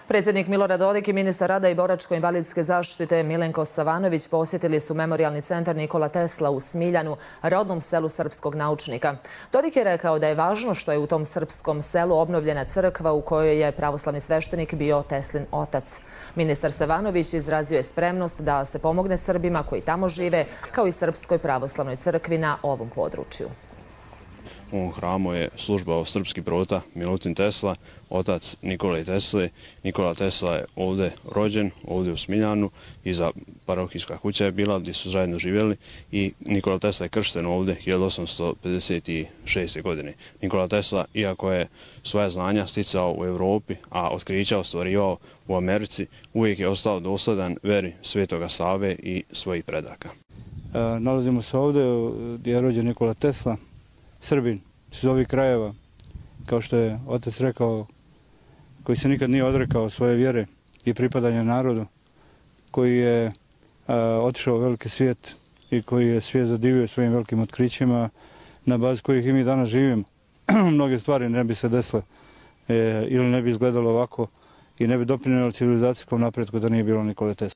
Predsjednik Milorad Dodik i ministar rada i boračko-invalidske zaštite Milenko Savanović posjetili su Memorijalni centar Nikola Tesla u Smiljanu, rodnom selu srpskog naučnika. Dodik je rekao da je važno što je u tom srpskom selu obnovljena crkva u kojoj je pravoslavni sveštenik bio Teslin otac. Ministar Savanović izrazio je spremnost da se pomogne Srbima koji tamo žive, kao i Srpskoj pravoslavnoj crkvi na ovom području. U ovom hramu je službao srpski prota Milutin Tesla, otac Nikole Tesle. Nikola Tesla je ovdje rođen, ovdje u Smiljanu, iza parohijska kuća je bila gdje su zajedno živjeli i Nikola Tesla je kršten ovdje 1856. godine. Nikola Tesla, iako je svoja znanja sticao u Europi, a otkrića ostvarivao u Americi, uvijek je ostao dosledan veri Svetoga Save i svojih predaka. Nalazimo se ovdje gdje je rođen Nikola Tesla, Srbin iz ovih krajeva, kao što je otac rekao, koji se nikad nije odrekao svoje vjere i pripadanja narodu, koji je otišao u veliki svijet i koji je svijet zadivio svojim velikim otkrićima, na bazi kojih i mi danas živimo. Mnoge stvari ne bi se desile ili ne bi izgledalo ovako i ne bi doprinijelo civilizacijskom napretku da nije bilo Nikole Tesle.